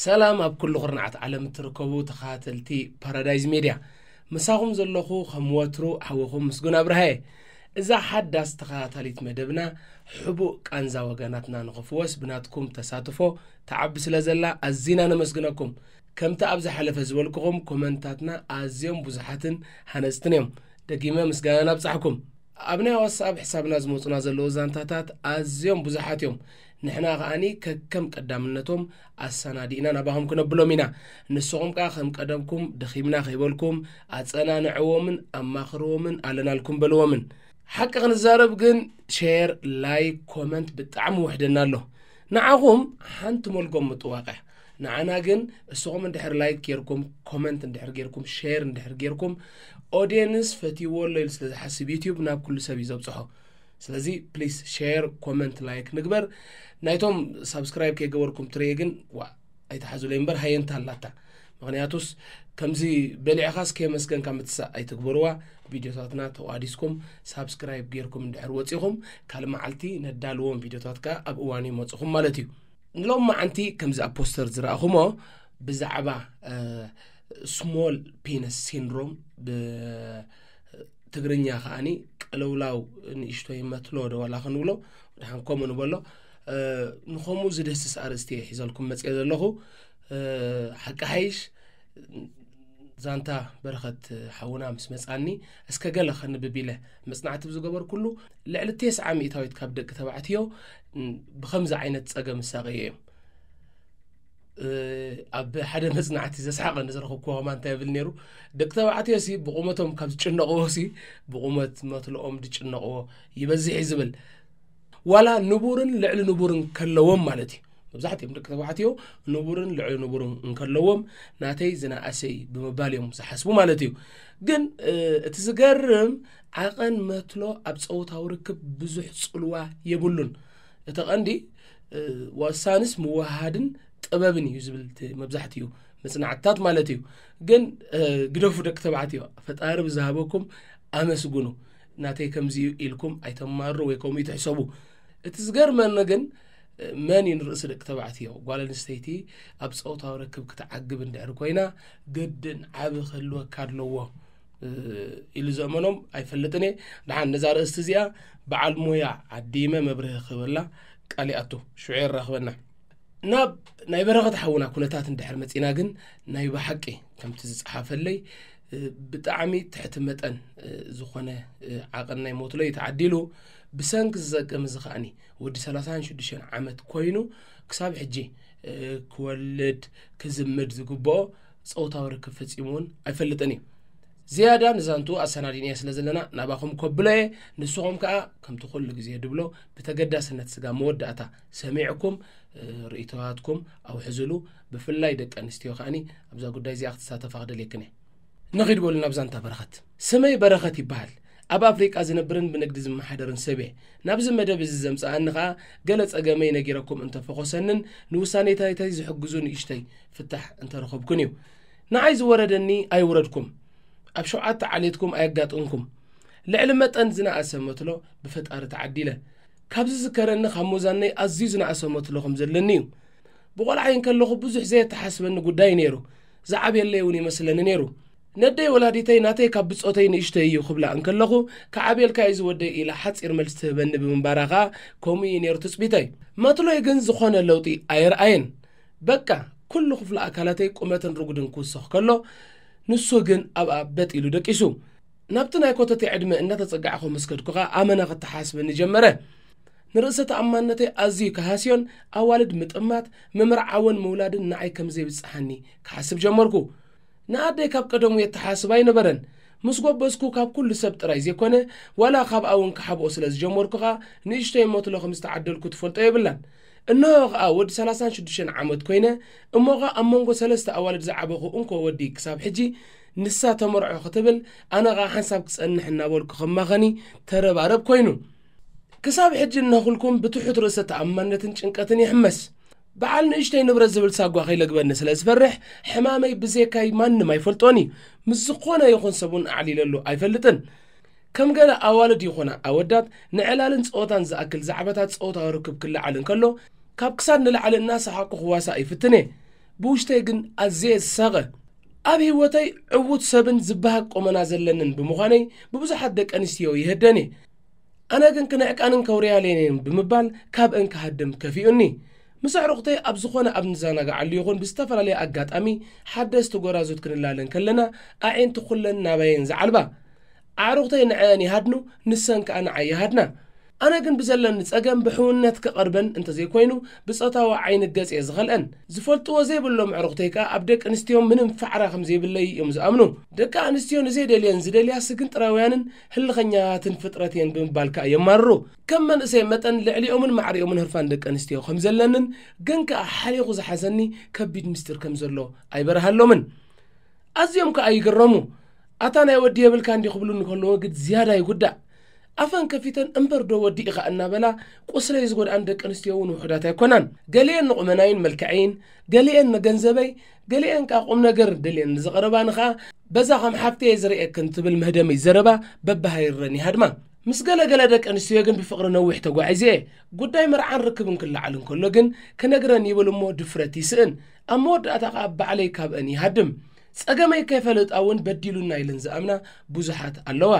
ሰላም ኣብ ኩሉ ኩርናዓት ዓለም እትርከቡ ተኸታተልቲ ፓራዳይዝ ሜድያ፣ ምሳኹም ዘለኹ ከም ወትሩ ሓውኹም ምስጉን ኣብርሃየ። እዛ ሓዳስ ተኸታታሊት መደብና፣ ሕቡእ ቃንዛ ወገናትና ንኽፍወስ ብናትኩም ተሳትፎ ትዓቢ ስለ ዘላ ኣዚና ነመስግነኩም። ከምቲ ኣብ ዝሓለፈ ዝበልኩኹም፣ ኮመንታትና ኣዝዮም ብዙሓትን ሃነጽትን እዮም። ደጊመ ምስጋና ናብጻሕኩም። ኣብ ናይ ዋትስኣፕ ሕሳብና ዝመጹና ዘለዉ ዛንታታት ኣዝዮም ብዙሓት እዮም። ንሕና ከኣኒ ከከም ቀዳምነቶም ኣሰናዲእና ናባኹም ክነብሎም ኢና። ንስኹም ከኣ ከም ቀደምኩም ደኺምና ከይበልኩም ኣጸናንዕዎምን ኣማኽርዎምን ኣለናልኩም በልዎምን። ሓቂ ክንዛረብ ግን፣ ሼር፣ ላይክ፣ ኮመንት ብጣዕሚ ውሕደና ኣሎ። ንዓኹም ሓንቲ መልጎም ምጥዋቕ እያ። ንዓና ግን እስኹም እንድሕር ላይክ ጌርኩም፣ ኮመንት እንድሕር ጌርኩም፣ ሼር እንድሕር ጌርኩም፣ ኦድየንስ ፈትይዎ ኣሎ ኢሉ ስለ ዝሓስብ ዩትዩብ ናብ ኩሉ ሰብ እዩ ዘብጽሖ። ስለዚ ፕሊስ ሼር፣ ኮመንት፣ ላይክ ንግበር። ናይቶም ሳብስክራይብ ከይገበርኩም ትርእየ ግን ዋ ኣይትሓዙለይ እምበር ሃየንታ ኣላታ። ምኽንያቱስ ከምዚ በሊዕኻስ ከየመስገንካ ምትሳእ ኣይትግበርዋ። ቪድዮታትና ተቋዲስኩም ሳብስክራይብ ጌርኩም እንድሕር ወጺኹም፣ ካልእ መዓልቲ ነዳልዎም ቪድዮታት ከኣ ኣብ እዋኑ ይመጽኹም ማለት እዩ። ንሎም መዓንቲ ከምዚ ኣብ ፖስተር ዝረኣኹሞ ብዛዕባ ስሞል ፒነስ ሲንድሮም፣ ብትግርኛ ከኣኒ ቀለውላው ንእሽቶይ መትሎ ዶ ዋላ ክንብሎ፣ ደሓን ከምኡ ንበሎ። እ፣ ንኸምኡ ዝድህስስ ኣርእስቲ እየ ሒዘልኩም መጽየ ዘለኹ። እ፣ ሓቂ ሓይሽ ዛንታ በረኸት ሓውና ምስ መጻኒ፣ እስከ ገለ ከንብብ ኢለ መጽናዕቲ ብዝገበርኩሉ፣ ልዕሊ ተስዓ ሚእታዊት ካብ ደቂ ተባዕትዮ፣ ን-፣ ብኸምዚ ዓይነት ጸገም ዝሳቐዩ እዮም። እ፣ ኣብ ሓደ መጽናዕቲ ዘስሓቐኒ ዝረኸብኩዎ ከማን እንታይ ይብል ነይሩ? ደቂ ተባዕትዮ ሲ ብቑመቶም ካብ ዝጭነቕዎ ሲ ብቑመት መትልኦም ዝጭነቕዎ ይበዝሕ እዩ ዝብል። ዋላ ንቡርን ልዕሊ ንቡርን ከለዎም ማለት እዩ። መብዛሕትኦም ደቂ ተባዕትዮ ንቡርን ልዕሊ ንቡርን እንከለዎም ናተይ ዝነኣሰ እዩ ብምባል እዮም ዝሓስቡ ማለት እዩ። ግን፣ እ፣ እቲ ዝገርም ዓቐን መትሎ ኣብ ጸውታዊ ርክብ ብዙሕ ጽልዋ የብሉን። እቲ ቀንዲ፣ እ፣ ወሳንስ ምውሃድን ጥበብን እዩ ዝብል እቲ መብዛሕትኡ መጽናዕትታት ማለት እዩ። ግን፣ እ፣ ግደፉ ደቂ ተባዕትዮ፣ ፈጣሪ ብዝሃበኩም ኣመስግኑ። ናተይ ከምዚ እዩ ኢልኩም ኣይተማርሩ ወይ ከምኡ ይትሕሰቡ። እቲ ዝገርመኒ ግን፣ እ፣ መን እዩ ንርእሲ ደቂ ተባዕትዮ? ጓል ኣንስተይቲ ኣብ ጾታዊ ርክብ ክትዓግብ እንድሕር ኮይና፣ ግድን ዓቢ ክህልወካ ኣለዎ፣ እ፣ ኢሉ ዘእመኖም ኣይፈልጥን እየ። ደሓን ነዛ ርእስቲ እዚኣ በዓል ሞያ ዓዲመ መብርሂ ክህበላ ቃል ይኣቱ። ሽዑ የራኽበና። ናብ ናይ በረኸት ሓውና ኩነታት እንድሕር መጺና ግን፣ ናይ ብሓቂ ከምቲ ዝጸሓፈለይ፣ እ፣ ብጣዕሚ ትሕቲ መጠን፣ እ፣ ዝኾነ፣ እ፣ ዓቐን ናይ ሞትሎ እዩ ተዓዲሉ። ብሰንኪ ዝጸገም እዚ ከኣኒ ወዲ ሰላሳን ሽዱሽተን ዓመት ኮይኑ ክሳብ ሕጂ፣ እ፣ ክወልድ ክዝምድ ዝግብኦ ጾታዊ ርክብ ፈጺሙ እውን ኣይፈልጥን እዩ። ዝያዳ ንዛንቱ ኣሰናዲንዮ ስለ ዘለና ናባኹም ከብሎ እየ። ንስኹም ከኣ ከምቲ ኩሉ ግዜ ድብሎ ብተገዳስነት ስጋ መወዳእታ ሰሚዕኩም፣ እ፣ ርእይቶታትኩም ኣውሕዝሉ። ብፍላይ ደቂ ኣንስትዮ ከኣኒ ኣብዛ ጉዳይ እዚኣ ክትሳተፋ ክደልየክን እየ። ንኺድ በሉ ናብ ዛንታ በረኸት። ስመይ በረኸት ይበሃል። ኣብ ኣፍሪቃ ዝነብርን ብንግዲ ዝመሓደርን ሰብ እየ። ናብዚ መደብ እዚ ዘምጽኣኒ ኸኣ ገለ ጸገመይ ነጊረኩም እንተፈኾሰንን ንውሳኔታተይ ዝሕግዙ ንእሽተይ ፍታሕ እንተረኸብኩን እዩ። ንዓይ ዝወረደኒ ኣይውረድኩም። ኣብ ሸውዓተ ዓሌትኩም ኣየጋጥምኩም። ልዕሊ መጠን ዝነኣሰ መትሎ ብፈጣሪ ተዓዲለ። ካብ ዝዝከረኒ ካብ ሞዛነይ ኣዝዩ ዝነኣሰ መትሎ ከም ዘለኒ እዩ። ብቖልዓይ እንከለኹ ብዙሕ ዘየተሓስበኒ ጉዳይ ነይሩ። ዝዓብየለይ እውን ይመስለኒ ነይሩ። ነደይ ወላዲተይ ናተይ ካብ ብጾተይ ንእሽተይ እዩ ክብላ እንከለኹ፣ ክዓብየልካ እዩ ዝወደይ ኢላ ሓጺር መልሲ ትህበኒ ብምንባራ ኸኣ ከምኡ እዩ ነይሩ ትጽቢተይ። መትሎይ ግን ዝኾነ ለውጢ ኣየርኣየን። በቃ ኩሉ ክፍሊ ኣካላተይ ቁመትን ርጉድን ክውስኽ ከሎ፣ ንሱ ግን ኣብኣ በጥ ኢሉ ደቂሱ። ናብቲ ናይ ኮተቴ ዕድመ እናተጸጋዕኹ ምስ ከድኩ ኸኣ ኣመና ክተሓስበኒ ጀመረ። ንርእሰ ተኣማንነተይ ኣዝዩ ክሃስዮን ኣዋልድ ምጥማት፣ ምምርዓውን ምውላድን ንዓይ ከም ዘይብጽሓኒ ክሓስብ ጀመርኩ። ንኣደይ ካብ ቀደሙ የተሓስብ ኣይነበረን። ምስ ጎበዝኩ ካብ ኩሉ ሰብ ጥራይ ዘይኮነ፣ ዋላ ካብኣ እውን ክሓብኦ ስለ ዝጀመርኩ ኸኣ ንእሽተይ መትሎ ከም ዝተዓደልኩ ትፈልጦ የብላን። እንሆ ኸኣ ወዲ ሰላሳን ሽዱሽተን ዓመት ኮይነ፣ እሞ ኸኣ ኣብ መንጎ ሰለስተ ኣዋልድ ዝዓበኹ እንኮ ወዲ ክሳብ ሕጂ ንሳ ተመርዖ ክትብል፣ ኣነ ኸኣ ሓንሳብ ክጸንሕ እናበልኩ ከማኸኒ ተረባረብ ኮይኑ። ክሳብ ሕጂ እናኹልኩም ብትሑት ርእሰ ተኣማንነትን ጭንቀትን ይሕመስ። በዓል ንእሽተይ ንብረት ዝብል ሳጓ ከይለግበኒ ስለ ዝፈርሕ፣ ሕማመይ ብዘይካይ ማንም ኣይፈልጦን እዩ። ምስ ዝኾነ ይኹን ሰብ እውን ኣዕሊለሉ ኣይፈልጥን። ከም ገለ ኣዋልድ ይኹና ኣወዳት፣ ንዕላልን ጸወታን ዝኣክል ዛዕባታት ጸወታዊ ርክብ ክለዓል እንከሎ፣ ካብ ክሳድ ንላዕሊ እናሰሓቕኩ ክዋሳእ ይፍትን እየ። ብውሽተይ ግን ኣዝየ ዝሳቐ። ኣብ ህይወተይ ዕዉት ሰብን ዝበሃግ ቁመና ዘለንን ብምዃነይ ብብዙሓት ደቂ ኣንስትዮ ይህደን እየ። ኣነ ግን ክንዕቀንን ከውርያለየን እየን ብምባል ካብአን ክሃድም ከፊኡኒ። ምስ ኣዕሩኽተይ ኣብ ዝኾነ ኣብ ንዘናግዓሉ ይኹን ብዝተፈላለየ ኣጋጣሚ ሓደስቲ ጎራዙት ክንላለን ከለና ኣዒንቲ ኩለን ናባየን ዝዓልባ። ኣዕሩኽተይ ንዐአን ይሃድኑ፣ ንሰን ከኣ ንዓይ ይሃድና። ኣነ ግን ብዘለኒ ጸገም ብሕውነት ክቐርበን እንተዘይኮይኑ ብጾታዊ ዓይኒ ገጽ እየ ዝኸልአን። ዝፈልጥዎ ዘይብሎም ኣዕሩኽተይ ከኣ ኣብ ደቂ ኣንስትዮ ምንም ፋዕራ ከም ዘይብለይ እዮም ዝኣምኑ። ደቂ ኣንስትዮ ንዘይደልየን ዝደልያ ስግንጥራውያንን ህልኸኛትን ፍጥረት እየን ብምባል ከኣ የማርሩ። ከም መንእሰይ መጠን ልዕሊኦምን ማዕሪኦምን ህርፋን ደቂ ኣንስትዮ ከም ዘለንን ግን ከኣ ሓሊኹ ዝሓዘኒ ከቢድ ምስጢር ከም ዘሎ ኣይበርሃሎምን። ኣዝዮም ከኣ ይግረሙ። ኣታ ናይ ወዲ የብልካ እንዲ ክብሉኒ ከለዉ ግን ዝያዳ ይጉዳእ። ኣፈን ከፊተን እምበር ዶ ወዲ ኢኻ እናበላ ቁስለይ ዝጎድኣን ደቂ ኣንስትዮ እውን ውሑዳት ኣይኮናን። ገሊአን ንቑመናይን መልክዐይን፣ ገሊአን ንገንዘበይ፣ ገሊአን ከኣ ቁም ነገር ደልየን ንዝቐረባኒ ኸኣ በዛ ከም ሓፍተየ ዝርእየክን ትብል መህደመይ ዘረባ በብሃይረን ይሃድማ። ምስ ገለ ገለ ደቂ ኣንስትዮ ግን ብፍቕሪ ነዊሕ ተጓዒዘ እየ። ጉዳይ መርዓን ርክብን ክለዓል እንከሎ ግን ክነግረን ይብል እሞ ድፍረት ይስእን። ኣብ መወዳእታ ኸኣ ባዕለይ ካብአን ይሃድም። ጸገመይ ከይፈለጣ እውን በዲሉና ኢለን ዝኣምና ብዙሓት ኣለዋ።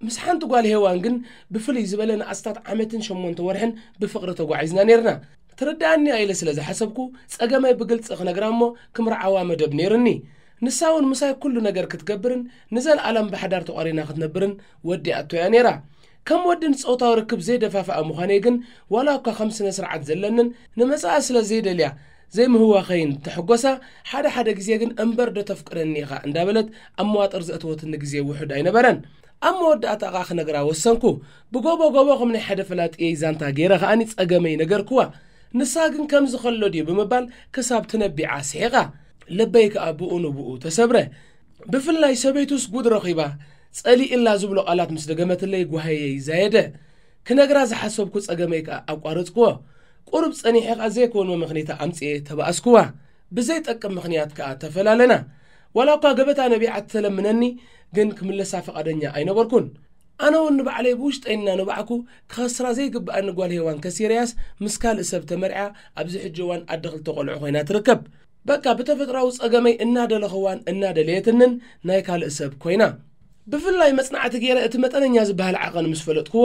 ምስ ሓንቲ ጓል ሄዋን ግን ብፍልይ ዝበለ ንኣስታት ዓመትን ሸሞንተ ወርሕን ብፍቕሪ ተጓዒዝና ኔርና። ትርድኣኒ እያ ኢለ ስለ ዝሓሰብኩ ጸገመይ ብግልጺ ክነግራ እሞ ክምርዓዋ መደብ ኔርኒ። ንሳ እውን ምሳይ ኩሉ ነገር ክትገብርን ንዘለኣለም ብሓዳር ተቋሪና ክትነብርን ወዲኣቶ እያ ኔራ። ከም ወዲ ንጾታዊ ርክብ ዘይደፋፍኣ ምዃነይ ግን ዋላ እኳ ከም ስነ ስርዓት ዘለንን ንመጻኢ ስለ ዘይደልያ ዘይምህዋኸይን ተሕጎሳ፣ ሓደ ሓደ ግዜ ግን እምበር ዶ ተፍቅረኒ ኢኻ እንዳበለት ኣብ መዋጥር ዘእተወትኒ ግዜ ውሑድ ኣይነበረን። ኣብ መወዳእታ ኸኣ ክነግራ ወሰንኩ። ብጎቦ ጎቦ ከም ናይ ሓደ ፈላጥየይ ዛንታ ገይረ ኸኣኒ ጸገመይ ነገርክዋ። ንሳ ግን ከምዚ ከሎ ድዩ ብምባል ክሳብ ትነቢዓ ስሒቓ። ልበይ ከኣ ብኡ ንብኡ ተሰብረ። ብፍላይ ሰበይቱስ ጉድ ረኺባ፣ ጸሊእላ ዝብሎ ቃላት ምስ ደገመትለይ ጓህየይ ዛየደ። ክነግራ ዝሓሰብኩ ጸገመይ ከኣ ኣቋረጽክዎ። ቁሩብ ጸኒሐ ከኣ ዘይኮን መመኽኔታ ኣምጽኤ ተባኣስክዋ። ብዘይጠቅም ምኽንያት ከኣ ተፈላለና። ዋላ እኳ ገበታ ነቢዓ ትተለምነኒ፣ ግን ክምለሳ ፍቓደኛ ኣይነበርኩን። ኣነ እውን ንባዕለይ ብውሽጠይ እናነባዕኩ ክኸስራ ዘይግብኣኒ ጓል ሄዋን ከሲረያስ ምስ ካልእ ሰብ ተመርዕያ ኣብዚ ሕጂ እዋን ኣደ ክልተ ቆልዑ ኮይና ትርከብ። በቃ ብተፈጥራዊ ጸገመይ እናደለኽዋን እናደለየትንን ናይ ካልእ ሰብ ኮይና። ብፍላይ መጽናዕቲ ገይረ እቲ መጠነኛ ዝበሃል ዓቐን ምስ ፈለጥክዎ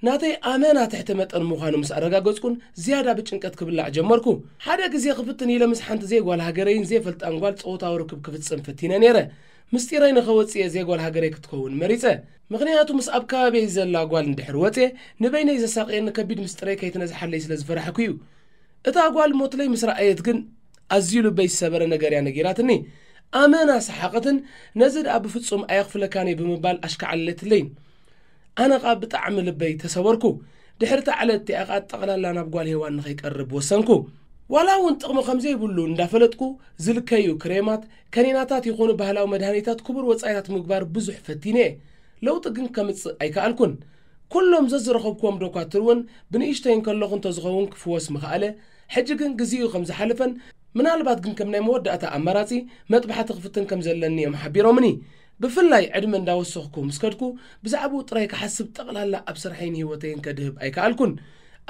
ናተይ ኣመና ትሕቲ መጠን ምዃኑ ምስ ኣረጋገጽኩን ዝያዳ ብጭንቀት ክብላዕ ጀመርኩ። ሓደ ግዜ ክፍትን ኢለ ምስ ሓንቲ ዘይጓል ሃገረይን ዘይፈልጣን ጓል ጾታዊ ርክብ ክፍጽም ፈቲነ ነይረ። ምስጢረይ ንኸወጽእ እየ ዘይጓል ሃገረይ ክትከውን መሪጸ። ምኽንያቱ ምስ ኣብ ከባቢይ ዘላ ጓል እንድሕር ወጽየ ንበይነይ ዘሳቕየኒ ከቢድ ምስጢረይ ከይትነዝሓለይ ስለ ዝፈራሕኩ እዩ። እታ ጓል ሞትለይ ምስ ረኣየት ግን ኣዝዩ ልበይ ዝሰበረ ነገር እያ ነጊራትኒ። ኣመና ሰሓቐትን ነዚ ደኣ ብፍጹም ኣየኽፍለካን እየ ብምባል ኣሽካዓለለትለይን። ኣነ ኸኣ ብጣዕሚ ልበይ ተሰበርኩ። ድሕሪ እታ ዕለት እቲኣ ኸኣ ጠቕላላ ናብ ጓል ሄዋን ንኸይቀርብ ወሰንኩ። ዋላ እውን ጥቕሚ ከም ዘይብሉ እንዳፈለጥኩ ዝልከዩ ክሬማት፣ ከኒናታት ይኹኑ ባህላዊ መድሃኒታት ክቡር ወጻኢታት ምግባር ብዙሕ ፈቲነ እየ። ለውጢ ግን ከምጽእ ኣይከኣልኩን። ኩሎም ዘዝረኸብክዎም ዶኳትር እውን ብንእሽተይ እንከለኹ እንተዝኸውን ክፍወስ ምኸኣለ፣ ሕጂ ግን ግዜኡ ከም ዝሓለፈን ምናልባት ግን ከም ናይ መወዳእታ ኣማራጺ መጥባሕቲ ክፍትን ከም ዘለኒ እዮም ሓቢሮምኒ። ብፍላይ ዕድመ እንዳወሰኽኩ ምስ ከድኩ ብዛዕባኡ ጥራይ ክሓስብ ጠቕላላ ኣብ ስርሐይን ህይወተይን ከድህብ ኣይከኣልኩን።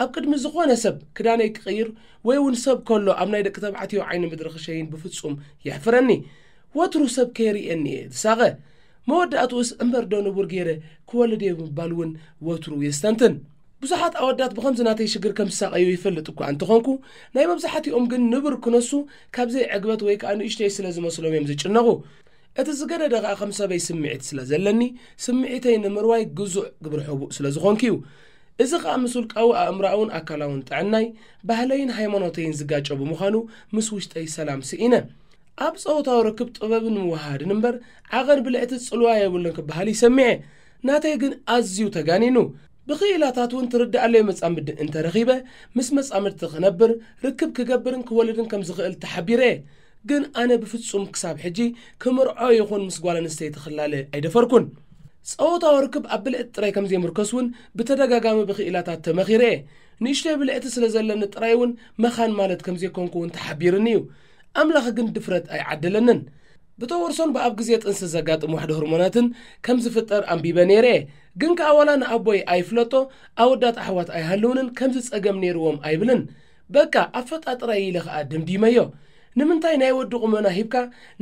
ኣብ ቅድሚ ዝኾነ ሰብ ክዳነይ ክቕይር ወይ እውን ሰብ ከሎ ኣብ ናይ ደቂ ተባዕትዮ ዓይኒ ምድሪ ክሸይን ብፍጹም የሕፍረኒ። ወትሩ ሰብ ከይርእየኒ እየ ዝሳቐ። መወዳእትኡስ እምበር ዶ ንቡር ገይረ ክወልድ እየ ብምባል እውን ወትሩ የስተንትን። ብዙሓት ኣወዳት ብኸምዚ ናተይ ሽግር ከም ዝሳቐዩ ይፈልጥ እኳ እንተኾንኩ ናይ መብዛሕትኦም ግን ንቡር ክነሱ ካብ ዘይዕግበት ወይ ከኣ ንእሽተይ ስለ ዝመስሎም እዮም ዝጭነቑ። እቲ ዝገደደ ከኣ ከም ሰበይ ስምዒት ስለ ዘለኒ ስምዒተይ ንምርዋይ ግዙእ ግብረ ሕቡእ ስለ ዝኾንኩ እዩ። እዚ ከኣ ምስ ውልቃዊ ኣእምሮኣውን ኣካላውን ጥዕናይ፣ ባህለይን ሃይማኖተይን ዝጋጨ ብምዃኑ ምስ ውሽጠይ ሰላም ስኢነ። ኣብ ጾታዊ ርክብ ጥበብን ምውሃድን እምበር ዓቐን ብልዕቲ ጽልዋ የብሉን ክበሃል ይሰምዐ። ናተይ ግን ኣዝዩ ተጋኒኑ። ብኽኢላታት እውን ትርድኣለይ መጻምዲ እንተረኺበ ምስ መጻምድቲ ክነብር፣ ርክብ ክገብርን ክወልድን ከም ዝኽእል ተሓቢረ እየ። ግን ኣነ ብፍጹም ክሳብ ሕጂ ክምርዖ ይኹን ምስ ጓል ኣንስተይቲ ክላለ ኣይደፈርኩን። ጸወታዊ ርክብ ኣብ ብልዕቲ ጥራይ ከም ዘይምርከስ እውን ብተደጋጋሚ ብኽኢላታት ተመኺረ እየ። ንእሽተይ ብልዕቲ ስለ ዘለኒ ጥራይ እውን መኻን ማለት ከም ዘይኮንኩ እውን ተሓቢርኒ እዩ። ኣምላኽ ግን ድፍረት ኣይዓደለንን። ብተወርሶን ብኣብ ግዜ ጥንሲ ዘጋጥም ዋሕዲ ሆርሞናትን ከም ዝፍጠር ኣንቢበ ነይረ እየ። ግን ከኣ ዋላ ንኣቦይ ኣይፍለጦ፣ ኣወዳት ኣሕዋት ኣይሃልውንን፣ ከምዚ ጸገም ነይርዎም ኣይብልን። በቃ ኣፈጣጥራይ ኢለ ከኣ ደምዲመዮ። ንምንታይ ናይ ወዲ ቁመና ሂብካ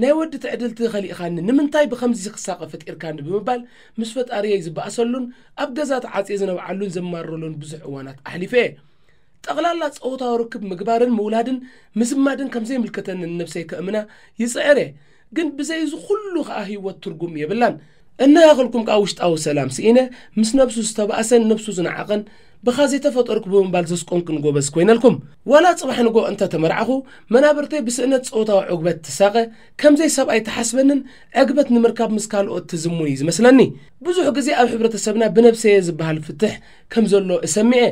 ናይ ወዲ ትዕድልቲ ኸሊእኻኒ፣ ንምንታይ ብኸምዚ ክሳቐ ፈጢርካኒ ብምባል ምስ ፈጣሪየይ ዝበኣሰሉን ኣብ ገዛ ተዓጽየ ዝነብዓሉን ዘማርረሉን ብዙሕ እዋናት ኣሕሊፈ እየ። ጠቕላላ ጸወታዊ ርክብ ምግባርን ምውላድን ምዝማድን ከም ዘይምልከተኒ ንነብሰይ ከእምና ይጽዕር እየ። ግን ብዘይ እዚ ኩሉ ኸኣ ህይወት ትርጉም የብላን። እናሃኸልኩም ከኣ ውሽጣዊ ሰላም ስኢነ፣ ምስ ነብሱ ዝተባእሰን ነብሱ ዝነዓቐን፣ ብኻ ዘይተፈጠርኩ ብምባል ዘስቆንክን ጎበዝ ኮይነልኩም። ዋላ ጽባሕ ንጎ እንተ ተመርዓኹ፣ መናብርተይ ብስእነት ጸወታዊ ዕግበት ትሳቐ፣ ከም ዘይሰብኣይ ትሓስበንን ዕግበት ንምርካብ ምስ ካልኦት ትዝሙን እዩ ዝመስለኒ። ብዙሕ ግዜ ኣብ ሕብረተሰብና ብነብሰየ ዝበሃል ፍትሕ ከም ዘሎ እሰሚዐ፣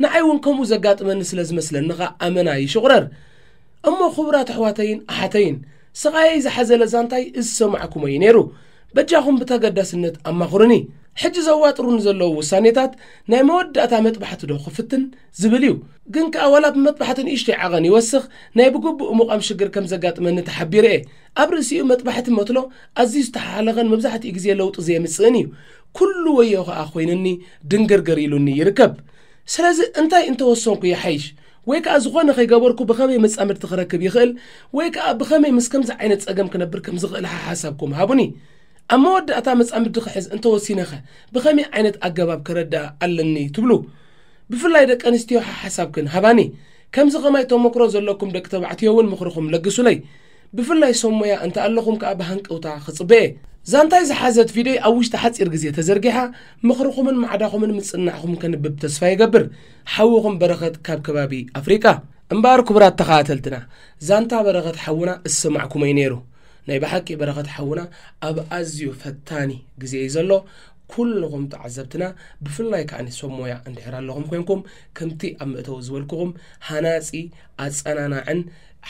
ንዓይ እውን ከምኡ ዘጋጥመኒ ስለ ዝመስለኒ ኸኣ ኣመና ይሽቑረር። እሞ ክቡራት ኣሕዋተይን ኣሓተይን፣ ስቓየይ ዝሓዘለ ዛንታይ እዚ ሰማዕኩሞ እዩ ነይሩ። በጃኹም ብተገዳስነት ኣማኽሩኒ። ሕጂ ዘዋጥሩኒ ዘለዉ ውሳኔታት ናይ መወዳእታ መጥባሕቲ ዶ ክፍትን ዝብል እዩ። ግን ከኣ ዋላ ብመጥባሕቲ ንእሽተይ ዓቐን ይወስኽ፣ ናይ ብግቡእ ምቋም ሽግር ከም ዘጋጥመኒ ተሓቢረ እየ። ኣብ ርእሲኡ መጥባሕቲ መትሎ ኣዝዩ ዝተሓላለኸን መብዛሕትኡ ግዜ ለውጢ ዘየምጽእን እዩ። ኩሉ ወዮ ከኣ ኮይኑኒ ድንግርግር ኢሉኒ ይርከብ። ስለዚ እንታይ እንተወሰንኩ ይሓይሽ? ወይ ከኣ ዝኾነ ከይገበርኩ ብኸመይ መጻምድቲ ክረክብ ይኽእል? ወይ ከኣ ብኸመይ ምስ ከምዚ ዓይነት ጸገም ክነብር ከም ዝኽእል ሓሓሳብኩም ሃቡኒ። ኣብ መወዳእታ መጻምድቲ ክሕዝ እንተወሲነኸ ብኸመይ ዓይነት ኣገባብ ከረድኣ ኣለኒ ትብሉ? ብፍላይ ደቂ ኣንስትዮ ሓሓሳብክን ሃባኒ። ከምዚ ኸማይ ተመክሮ ዘለኩም ደቂ ተባዕትዮ እውን ምኽርኹም ለግሱለይ። ብፍላይ ሰብ ሞያ እንተ ኣለኹም ከኣ ብሃንቀውታ ክጽበ እየ። ዛንታይ ዝሓዘት ቪድዮይ ኣብ ውሽጢ ሓጺር ግዜ ተዘርጊሓ፣ ምኽርኹምን ማዕዳኹምን ምጽናዕኹም ከንብብ ተስፋ ይገብር። ሓውኹም በረኸት ካብ ከባቢ ኣፍሪቃ። እምበኣር ክቡራት ተኸታተልትና፣ ዛንታ በረኸት ሓውና እሰማዕኩሞ እዩ ነይሩ። ናይ ብሓቂ በረኸት ሓውና ኣብ ኣዝዩ ፈታኒ ግዜ እዩ ዘሎ። ኩልኹም ተዓዘብትና፣ ብፍላይ ከኣ ሰብ ሞያ እንድሕር ኣለኹም ኮይንኩም፣ ከምቲ ኣብ መእተዊ ዝበልኩኹም፣ ሃናጺ፣ ኣጸናናዕን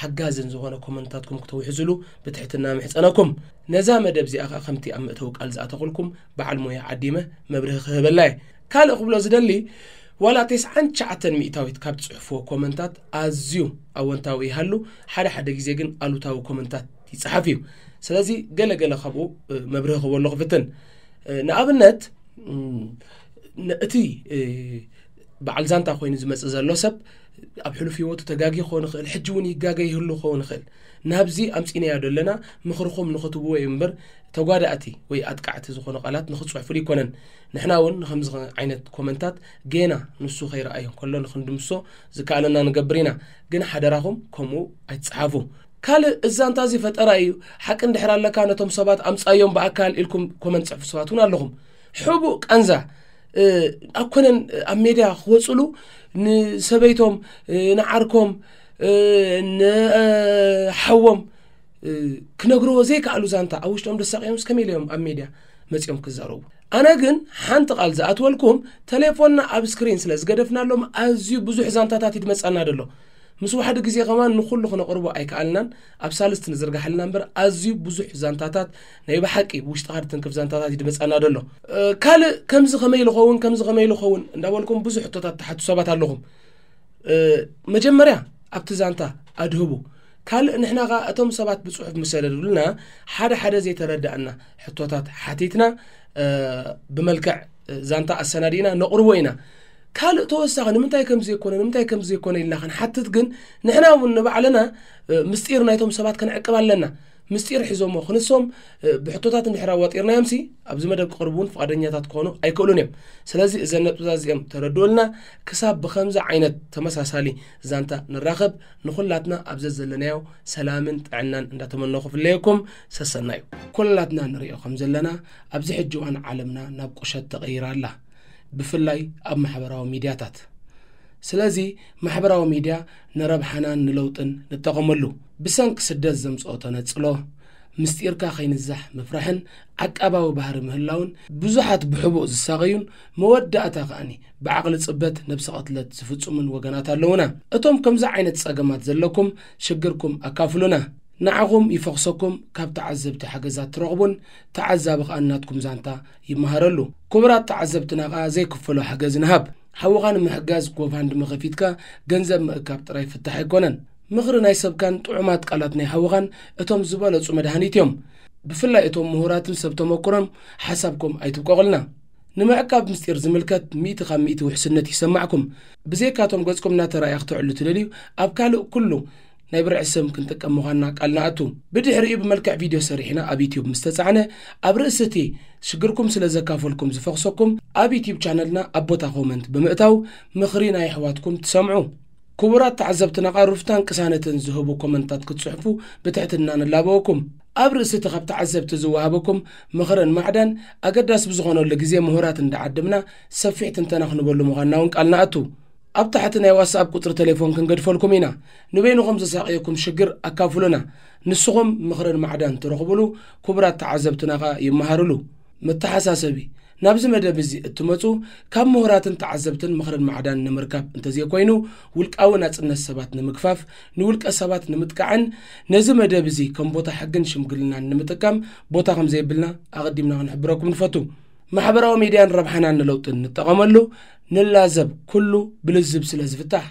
ሓጋዝን ዝኾነ ኮመንታትኩም ክተውሕዙሉ ብትሕትና ምሕጸነኩም። ነዛ መደብ እዚኣ ከኣ ከምቲ ኣብ መእተዊ ቃል ዝኣተኹልኩም በዓል ሞያ ዓዲመ መብርሂ ክህበላ እየ። ካልእ ክብሎ ዝደሊ፣ ዋላ ተስዓን ትሽዓተን ሚእታዊት ካብ ትጽሕፍዎ ኮመንታት ኣዝዩ ኣወንታዊ ይሃሉ፣ ሓደ ሓደ ግዜ ግን ኣሉታዊ ኮመንታት ይጽሓፍ እዩ። ስለዚ ገለ ገለ ካብኡ፣ እ፣ መብርሂ ክህበሉ ክፍትን። እ፣ ንኣብነት፣ እም፣ ን-፣ እቲ፣ እ፣ በዓል ዛንታ ኮይኑ ዝመጽእ ዘሎ ሰብ ኣብ ሕሉፍ ህይወቱ ተጋጊ ክኸውን ይኽእል፣ ሕጂ እውን ይጋገ ይህሉ ክኸውን ይኽእል። ናብዚ ኣምጺእናዮ ዘለና ምኽርኹም ንኽትብዎ እዩ እምበር፣ ተጓዳእቲ ወይ ኣጥቃዕቲ ዝኾኑ ቃላት ንኽትጽሕፉሉ ኣይኮነን። ንሕና እውን ንኸምዚ ዓይነት ኮመንታት ጌና ንሱ ከይረኣዮ እንከሎ ንኽንድምሶ ዝከኣለና ንገብር ኢና። ግን ሓደራኹም ከምኡ ኣይትጽሓፉ። ካልእ፣ እዚ ዛንታ እዚ ፈጠራ እዩ፣ ሓቂ እንድሕር ኣለካ ነቶም ሰባት ኣምጻዮም ብኣካል ኢልኩም ኮመንት ጽሕፉ ሰባት እውን ኣለኹም። ሕቡእ ቃንዛ፣ እ፣ ኣብ ኮነን ኣብ ሜድያ ክወጽሉ ንሰበይቶም፣ እ፣ ንዓርኮም፣ እ፣ ንሓዎም፣ እ፣ ክነግርዎ ዘይከኣሉ ዛንታ ኣብ ውሽጦም ደሳቂዮምስ ከመይ ኢሎም ኣብ ሜድያ መጺኦም ክዛረቡ? ኣነ ግን ሓንቲ ቃል ዝኣትወልኩም፣ ቴሌፎንና ኣብ ስክሪን ስለ ዝገደፍናሎም ኣዝዩ ብዙሕ ዛንታታት ይድመጸና ደሎ። ምስ ዋሕዲ ግዜ ከማን ንኹሉ ክነቕርቦ ኣይከኣልናን። ኣብ ሳልስቲ ንዝርጋሓልና እምበር ኣዝዩ ብዙሕ ዛንታታት፣ ናይ ብሓቂ ብውሽጥኻ ድትንክፍ ዛንታታት ይድመጸና ደሎ። እ፣ ካልእ ከምዚ ከመይ ኢሉ ኸውን፣ ከምዚ ከመይ ኢሉ ኸውን እንዳበልኩም ብዙሕ ሕቶታት ትሓቱ ሰባት ኣለኹም። እ፣ መጀመርያ ኣብቲ ዛንታ ኣድህቡ። ካልእ ንሕና ኸኣ እቶም ሰባት ብጽሑፍ ምስ ሰደዱልና ሓደ ሓደ ዘይተረዳእና ሕቶታት ሓቲትና፣ እ፣ ብመልክዕ፣ እ፣ ዛንታ ኣሰናዲእና ነቕርቦ ኢና። ካልእ ተወሳኺ ንምንታይ ከምዚ ዘይኮነ፣ ንምንታይ ከምዚ ዘይኮነ ኢልና ክንሓትት ግን ንሕና እውን ንባዕልና፣ እ፣ ምስጢር ናይቶም ሰባት ክንዕቅብ ኣለና። ምስጢር ሒዞሞ ክንሶም፣ እ፣ ብሕቶታት እንድሕር ኣዋጢርናዮምሲ ኣብዚ መደብ ክቕርቡ እውን ፍቓደኛታት ክኾኑ ኣይክእሉን እዮም። ስለዚ እዘን ነጥብታት እዚኦም ተረድኡልና። ክሳብ ብኸምዚ ዓይነት ተመሳሳሊ ዛንታ ንራኸብ፣ ንኹላትና ኣብ ዘዘለናዮ ሰላምን ጥዕናን እንዳተመነኹ ክፍለየኩም ሰሰናዩ። ኩላትና ንሪኦ ከም ዘለና ኣብዚ ሕጂ እዋን ዓለምና ናብ ቁሸት ተቐይራ ኣላ፣ ብፍላይ ኣብ ማሕበራዊ ሚድያታት። ስለዚ ማሕበራዊ ሚድያ ንረብሓናን ንለውጥን ንጠቐመሉ። ብሰንኪ ስደት ዘምጽኦ ተነጽሎ፣ ምስጢርካ ከይንዛሕ ምፍራሕን ዓቃባዊ ባህሪ ምህላውን ብዙሓት ብሕቡእ ዝሳቐዩን መወዳእታ ከኣኒ ብዓቕሊ ጽበት ነብሰ ቅትለት ዝፍጽሙን ወገናት ኣለዉና። እቶም ከምዚ ዓይነት ጸገማት ዘለኩም ሽግርኩም ኣካፍሉና። ንዓኹም ይፈኽሰኩም፣ ካብ ተዓዘብቲ ሓገዛት ትረኽቡን ተዓዛቢ ከኣ ናትኩም ዛንታ ይመሃረሉ። ክቡራት ተዓዘብትና ከኣ ዘይክፈሎ ሓገዝ ንሃብ። ሓውኻ ንምሕጋዝ ጎፋንድሚ ከፊትካ ገንዘብ ምእካብ ጥራይ ፍታሕ ኣይኮነን። ምኽሪ ናይ ሰብካን ጥዑማት ቃላት ናይ ሓውኻን እቶም ዝበለጹ መድሃኒት እዮም። ብፍላይ እቶም ምሁራትን ሰብ ተመኩሮም ሓሳብኩም ኣይትብቀቑልና። ንምዕቃብ ምስጢር ዝምልከት ሚእቲ ካብ ሚእቲ ውሕስነት ይሰማዕኩም። ብዘይካቶም ገጽኩም እናተራእየ ክትዕሉ ትደልዩ፣ ኣብ ካልእ ኩሉ ናይ ብርዒ ስም ክንጥቀም ምዃንና ቃል ንኣቱ። ብድሕሪኡ ብመልክዕ ቪድዮ ሰሪሕና ኣብ ዩትዩብ ምስ ተጻዕነ፣ ኣብ ርእሲ እቲ ሽግርኩም ስለ ዘካፈልኩም ዝፈኽሰኩም፣ ኣብ ዩትዩብ ቻነልና ኣብ ቦታ ኮመንት ብምእታው ምኽሪ ናይ ኣሕዋትኩም ትሰምዑ። ክቡራት ተዓዘብትና፣ ቃል ሩፍታን ቅሳነትን ዝህቡ ኮመንታት ክትጽሕፉ ብትሕትና ንላበወኩም። ኣብ ርእሲ እቲ ካብ ተዓዘብቲ ዝወሃበኩም ምኽርን ማዕዳን ኣገዳሲ ብዝኾነሉ ግዜ ምሁራት እንዳዓደምና ሰፊሕ ትንተና ክንበሉ ምዃንና እውን ቃል ንኣቱ። ኣብ ታሕቲ ናይ ዋትስኣፕ ቁጽሪ ቴሌፎን ክንገድፈልኩም ኢና። ንበይንኹም ዘሳቕየኩም ሽግር ኣካፍሉና። ንስኹም ምኽርን ማዕዳን ትረኽቡሉ፣ ክቡራት ተዓዘብትና ኸኣ ይመሃሩሉ። መተሓሳሰቢ፣ ናብዚ መደብ እዚ እትመጹ ካብ ምሁራትን ተዓዘብትን ምኽርን ማዕዳን ንምርካብ እንተዘይኮይኑ፣ ውልቃዊ ናጽነት ሰባት ንምግፋፍ፣ ንውልቀ ሰባት ንምጥቃዕን ነዚ መደብ እዚ ከም ቦታ ሕግን ሽምግልናን ንምጥቃም ቦታ ከም ዘይብልና ኣቐዲምና ክንሕብረኩም ንፈቱ። ማሕበራዊ ሚድያን ረብሓናን ንለውጥን ንጠቐመሉ፣ ንላዘብ፣ ኩሉ ብልዝብ ስለ ዝፍታሕ።